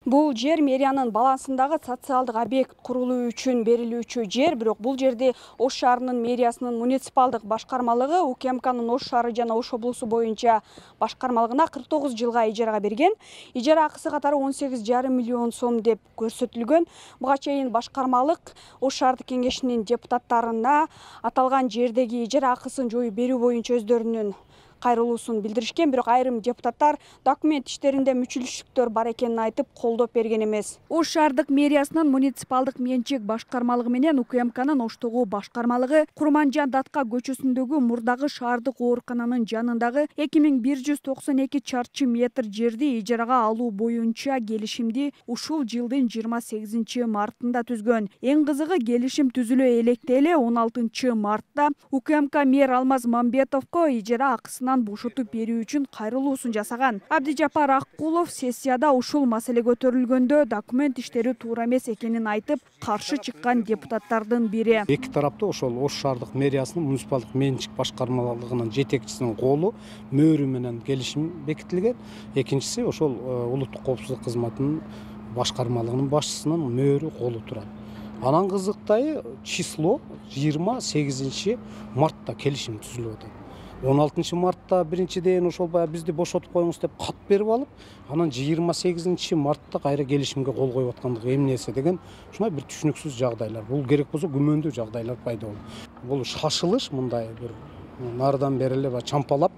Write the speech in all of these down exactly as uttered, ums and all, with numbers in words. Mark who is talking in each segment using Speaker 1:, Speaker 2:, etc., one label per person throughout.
Speaker 1: Бул жер мэриянын балансындагы социалдык объект курулуу үчүн берилүүчү жер, бирок бул жерди Ош шаарынын мэриясынын муниципалдык башкармалыгы УКМКнын Ош шаары жана Ош облусу боюнча башкармалыгына кырк тогуз жылга ижарага берген. Ижара акысы катары он сегиз жарым миллион сом деп көрсөтүлгөн. Буга чейин башкармалык Ош шаардык кеңешинин депутаттарына аталган жердеги ижара акысын жоюп берүү боюнча өздөрүнүн кайрылуусун билдиришкен, бирок айрым депутаттар документ иштеринде мүчүлүштүктөр бар экенин айтып, колдоп берген эмес. Ош шаардык мэриясынын муниципалдык менчик башкармалыгы менен УКМКнын Оштогу башкармалыгы Курманжан Датка көчөсүндөгү мурдагы шаардык оорукананын жанындагы эки миң бир жүз токсон эки чарчы метр жерди ижарага алуу боюнча келишимди ушул жылдын жыйырма сегизинчи мартында түзгөн. Эң кызыгы, келишим түзүлө электе эле он алтынчы мартта УКМК мэр Алмаз Мамбетовго ижара акысынан бошотуп берүү үчүн кайрылуусун жасаган. Абдижапар Аккулов сессияда ушул маселе көтөрүлгөндө документ иштери туура эмес экенин айтып, каршы чыккан депутаттардын бири.
Speaker 2: Эки тарапта ошол Ош шаардык мэриясынын муниципалдык менчик башкармалыгынын жетекчисинин колу, мөөрү менен келишим бекитилген. Экинчиси ошол улуттук коопсуздук кызматынын башкармалыгынын башчысынын мөөрү колу турат. Анан кызыктайы число жыйырма сегизинчи мартта келишим түзүлүп атат. он алтынчы мартта биринчиден ошол баягы бизди бошотуп коюңуз деп кат берип алып, анан жыйырма сегизинчи мартта кайра келишимге кол коюп аткандыгы эмнеси деген ушундай бир түшүнүксүз жагдайлар. Бул керек болсо күмөндүү жагдайлар пайда болду. Бул шашылыш, мындай бир нардан бери эле чампалап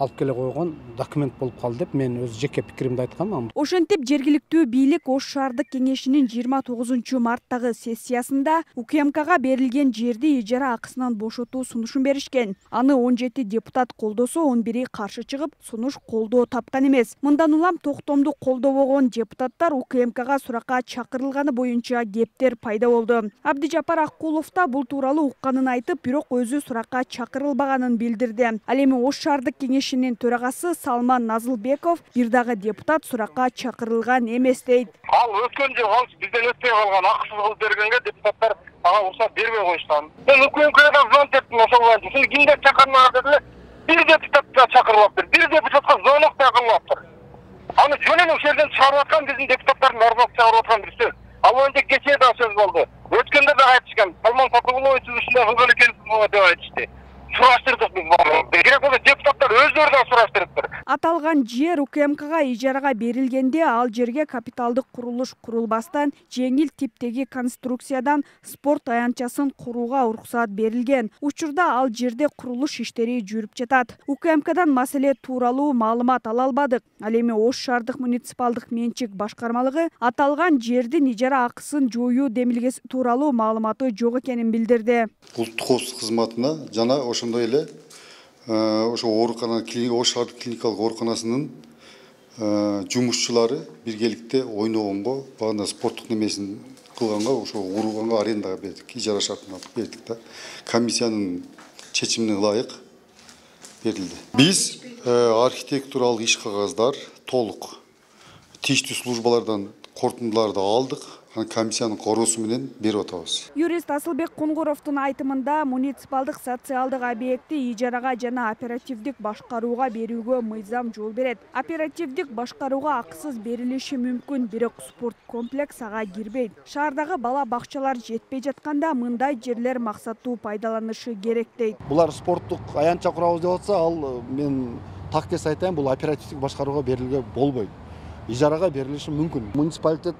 Speaker 2: алып келе койгон документ болуп калды деп мен өз жеке пикиримди айткам.
Speaker 1: Ошентип жергиликтүү бийлик Ош шаардык кеңешинин жыйырма тогузунчу марттагы сессиясында УКМКга берилген жерди ижара акысынан бошотуу сунушун беришкен. Аны он жети депутат колдосо, он бири каршы чыгып, сунуш колдоо тапкан эмес. Мындан улам токтомду колдобогон депутаттар УКМКга суракка чакырылганы боюнча кептер пайда болду. Абдижапар Аккулов да бул тууралуу укканын айтып, бирок өзү суракка чакырылбаганын билдирди. Ал эми Ош шаардык кеңеш төрагасы Салман Назылбеков бир дагы депутат суракка чакырылган эмес дейт.
Speaker 3: Ал өткөн жыл ал бизден өтпөй калган акысыз кылып бергенге депутаттар ага уруксат бербей койушкан. Мен УКМКдан звонок бердим ошол боюнча. Сени кимдер чакырмаган дедилер. Бир депутатты чакырылыптыр. Бир депутатка звонок да кылыптыр. Аны жөн эле ошол жерден чыгарып аткан биздин депутаттардын арбап чыгарып аткан бир сөз. Ал боюнча кечээ да сөз болду. Өткөндө да айтышкан. Салман Сатыгулович ушундай кылган экенсиз деп айтышты. Сураштырдык биз баары. Керек болсо депутаттар өздөрү да сураштырыптыр.
Speaker 1: Аталган жер УКМКга ижарага берилгенде ал жерге капиталдык курулуш курулбастан жеңил типтеги конструкциядан спорт аянтчасын курууга уруксат берилген. Учурда ал жерде курулуш иштери жүрүп жатат. УКМКдан маселе тууралуу маалымат ала албадык. Ал эми Ош шаардык муниципалдык менчик башкармалыгы аталган жердин ижара акысын жоюу демилгеси тууралуу маалыматы жок экенин билдирди.
Speaker 4: Улуттук коопсуздук кызматына жана ошондой эле ошо оорукана Ош шаардык клиникалык ооруканасынын жумушчулары биргеликте ойногонго, багында спорттук немесин кылганга, ошо курганга арендага бердик, ижара шартына бердик да. Комиссиянын чечимине ылайык берилди. Биз архитектуралык иш кагаздар толук тийиштүү службалардан корутундуларды алдык. Комиссиянын короосу менен берип атабыз.
Speaker 1: Юрист Асылбек Кунгуровдун айтымында муниципалдык социалдык объекти ижарага жана оперативдик башкарууга берүүгө мыйзам жол берет. Оперативдик башкарууга акысыз берилиши мүмкүн, бирок спорт комплекс ага кирбейт. Шаардагы бала бакчалар жетпей жатканда мындай жерлер максаттуу пайдаланышы керек дейт.
Speaker 5: Булар спорттук аянтча курабыз деп атса, ал мен так кес айтайын, бул оперативдик башкарууга берилге болбойт. Ижарага берилиши мүмкүн. Муниципалитет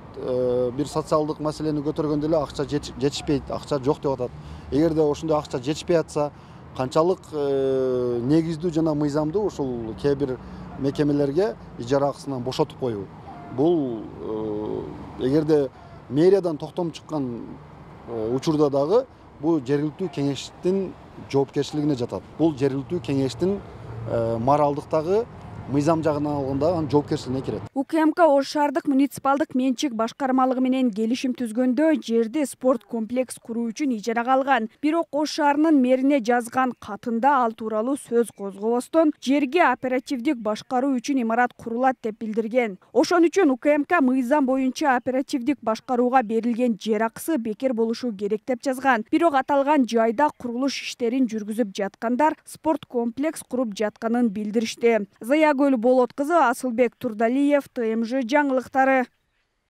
Speaker 5: бир социалдык маселени көтөргөндө эле акча жетишпейт, акча жок деп атат. Эгерде ошондой акча жетишпей атса, канчалык негиздүү жана мыйзамдуу ушул кээ бир мекемелерге ижара акысынан бошотуп коюу. Бул эгерде мэриядан токтом чыккан учурда дагы бул жергиликтүү кеңештин жоопкерчилигине жатат. Бул жергиликтүү кеңештин моралдыктагы мыйзам жагынан алганда анын жоопкерчилигине кирет.
Speaker 1: УКМК Ош шаардык муниципалдык менчик башкармалыгы менен келишим түзгөндө жерди спорт комплекс куруу үчүн ижарага алган. Бирок Ош шаарынын мэрине жазган катында ал тууралуу сөз козгобостон жерге оперативдик башкаруу үчүн имарат курулат деп билдирген. Ошон үчүн УКМК мыйзам боюнча оперативдик башкарууга берилген жер акысы бекер болушу керек деп жазган. Бирок аталган жайда курулуш иштерин жүргүзүп жаткандар спорт комплекс куруп жатканын билдиришти. Заягүл Болот кызы, Асылбек Турдалиев, ТМЖ жаңылыктары.